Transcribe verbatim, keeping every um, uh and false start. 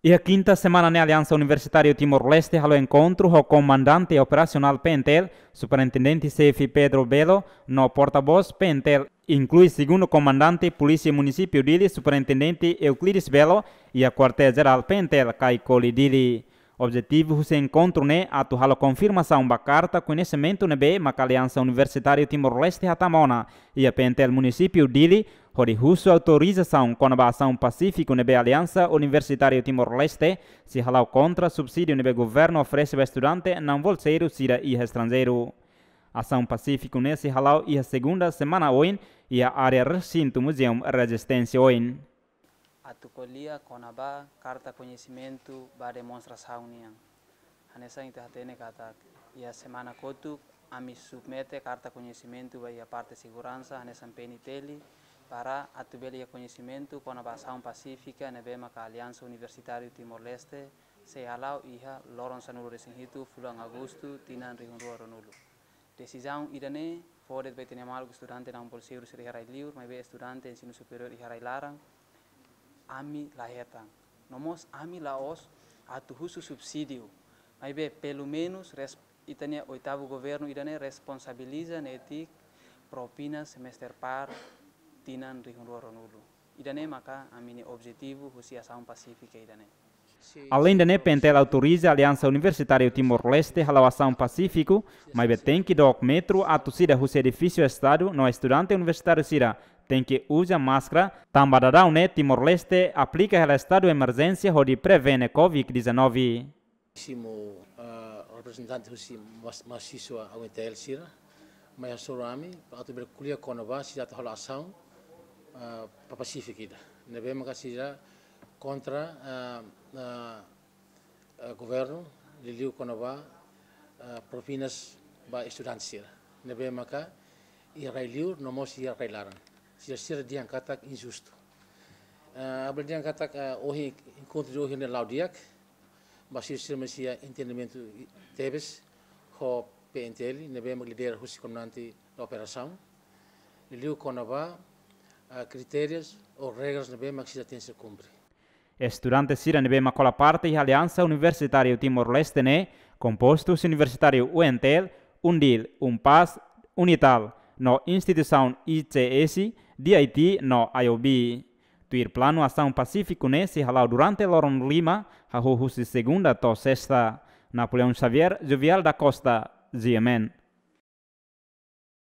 Iha kinta semana ne'e Aliansa Universitáriu Timor-Leste halo enkontru ho Komandante Operasionál P N T L, Superintendente Xefe Pedro Belo, no portavós P N T L, inklui Segundu Komandante Polísia Munisípiu Dili, Superintendente Euclides Belo, iha Kuartél Jerál P N T L Caicoli Dili. Objetivu husi enkontru ne'e atu halo konfirmasaun ba karta koñesimentu ne'ebé maka Aliansa Universitáriu Timor-Leste hatama ona iha P N T L Munisípiu Dili, hodi husu autorizasaun kona-ba asaun pasífiku ne'ebé Aliansa Universitáriu Timor-Leste sei hala'o kontra subsídiu ne'ebé governu oferese ba estudante na'in-bolseiru sira iha estranjeiru. Asaun pasífiku ne'e sei hala'o iha segunda semana oin iha área resintu Muzeu Rezisténsia oin. Atu ko'alia kona-ba karta koñesimentu ba demonstrasaun nian. Hanesan ita hatene katak iha semana kotuk ami submete karta koñesimentu ba iha parte seguransa hanesan P N T L para atu bele iha koñesimentu kona-ba asaun pasífika ne'ebé maka Aliansa Universitáriu Timor-Leste sei hala'o iha loron sanulu-resin-hitu fulan Agostu tinan rihun rua ruanulu. Desizaun ida-ne'e fó de'it ba ita-nia maluk estudante na'in-bolseiru sira iha rai-liur, maibé estudante ensinu superiór iha rai-laran, ami la hetan. No mós ami la'ós atu husu subsídiu, maibé pelumenus res-, ita-nia oitavu governu ida-ne'e responsabiliza netik propina semester par tinan rihun rua ruanulu. Ida-ne'e maka ami-nia objetivu husi asaun pasífika ida-ne'e. Aleinde ne'e, P N T L autoriza Aliansa Universitáriu Timor-Leste hala'o asaun pasífiku, maibé tenke dook metru atu sida husi edifísiu Estadu no estudante universitáriu sira tenke uza máskara, tanba daudaun ne'e Timor-Leste aplika hela estadu emerjénsia hodi prevene covid dezanove. Simu, ah, reprezentante husi mas-, mahasiswa U N T L sira, mai hasoru ami, atu bele ko'alia kona-ba sira atu halo asaun, ah, pa-, pasífiku ida. Ne'ebé maka sira kontra, ah, ah, ah, governu, liuliu kona-ba, ah, propinas ba estudante sira. Ne'ebé maka iha rai-liur, no mós iha rai-laran. Sira, sira dehan katak injustu. Ah, ha'u bele dehan katak, ah, ohin, enkontru ohin ne'e la'o di'ak, ba sira, sira mós iha entendimentu i-, tebes ho P N T L, ne'ebé mak lidera husi komandante operasaun. Liuliu kona-ba, ah, kritérius ou regras ne'ebé mak sira tenke kumpre. Estudante sira ne'ebé mak hola parte iha Aliansa Universitáriu Timor-Leste ne'e, kompostu husi universitáriu U N T L, UNDIL, UNPAZ, UNITAL, no instituisaun I C S, D I T no I O B. Tuir planu asaun pasífiku ne'e sei hala'o durante loron lima, hahú husi segunda to'o sesta. Napoleão Xavier, Jovial da Costa, G M N.